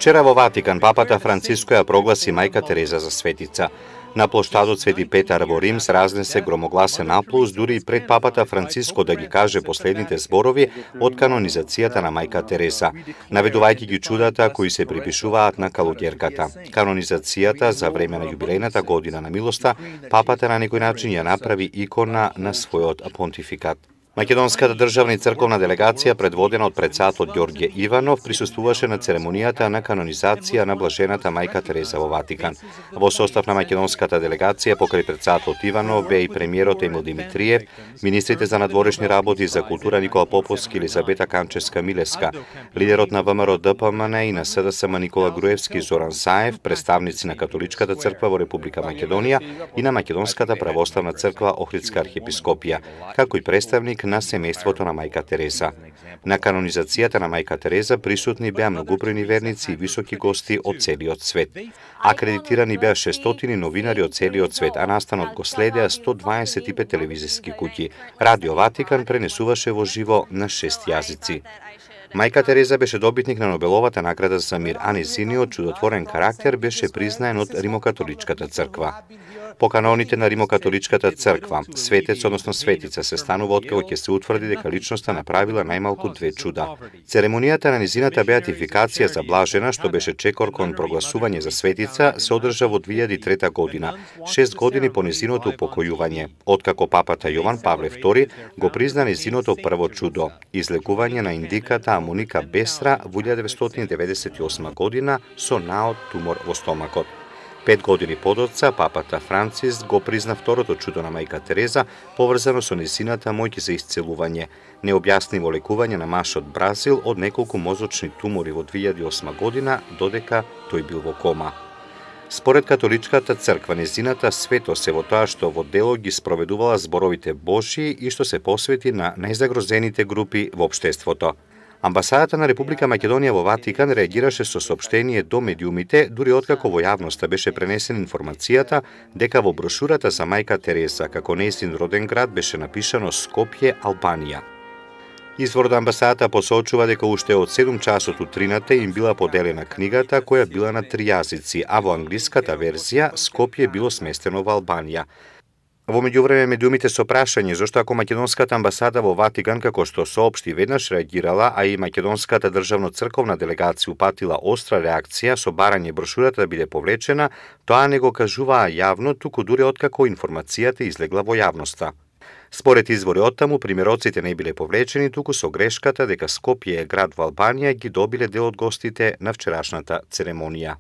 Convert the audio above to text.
Вчера во Ватикан папата Франциско ја прогласи мајка Тереза за светица. На плоштадот Свети Петар во Рим се разнесе громогласен аплауз дури и пред папата Франциско да ги каже последните зборови од канонизацијата на мајка Тереза, наведувајќи ги чудата кои се припишуваат на калуѓерката. Канонизацијата за време на јубилејната година на милоста, папата на некој начин ја направи икона на својот понтификат. Македонската државна и црковна делегација, предводена од председател Ѓорѓе Иванов, присуствуваше на церемонијата на канонизација на блажената мајка Тереза во Ватикан. Во состав на македонската делегација покрај председател Иванов бе и премиерот Емил Димитриев, министрите за надворешни работи и за култура Никола Поповски и Елизабета Канчевска-Милеска, лидерот на ВМРО ДПМН и на СДСМ Никола Груевски и Зоран Саев, представници на Католичката црква во Република Македонија и на Македонската православна црква Охридска архиепископија, како и представник на семејството на мајка Тереза. На канонизацијата на мајка Тереза присутни беа многобројни верници и високи гости од целиот свет. Акредитирани беа 600 новинари од целиот свет, а настанот го следеа 125 телевизиски куќи. Радио Ватикан пренесуваше во живо на 6 јазици. Мајка Тереза беше добитник на Нобеловата награда за мир, а нејзиниот чудотворен карактер беше признаен од Римокатоличката црква. По каноните на Римокатоличката црква, светец, односно светица, се станува откако ќе се утврди дека личноста направила најмалку 2 чуда. Церемонијата на низината беатификација за блажена, што беше чекор кон прогласување за светица, се одржа во 2003 година, 6 години по низиното упокојување, откако папата Јован Павле II го призна низиното прво чудо, излекување на индиката Амоника Бестра во 1998 година со наод тумор во стомакот. 5 години подоцна, папата Францис го призна второто чудо на мајка Тереза, поврзано со незината моќ за исцелување, необјаснимо лекување на маж од Бразил од неколку мозочни тумори во 2008 година, додека тој бил во кома. Според Католичката црква, незината светост е во тоа што во дело ги спроведувала зборовите Божји и што се посвети на најзагрозените групи во општеството. Амбасадата на Република Македонија во Ватикан реагираше со соопштение до медиумите, дури откако во јавноста беше пренесена информацијата дека во брошурата за мајка Тереза, како нејзин роден град, беше напишано Скопје, Албанија. Извор од амбасадата посочува дека уште од 7 часот утрината им била поделена книгата, која била на 3 јазици, а во англиската верзија Скопје било сместено во Албанија. Во меѓувреме медиумите со прашање зошто ако македонската амбасада во Ватикан, како што соопшти, веднаш реагирала, а и македонската државно црковна делегација упатила остра реакција со барање брошурата да биде повлечена, тоа не го кажуваа јавно, туку дури откако информацијата излегла во јавноста. Според извори оттаму, примероците не биле повлечени, туку со грешката дека Скопје е град во Албанија ги добиле дел од гостите на вчерашната церемонија.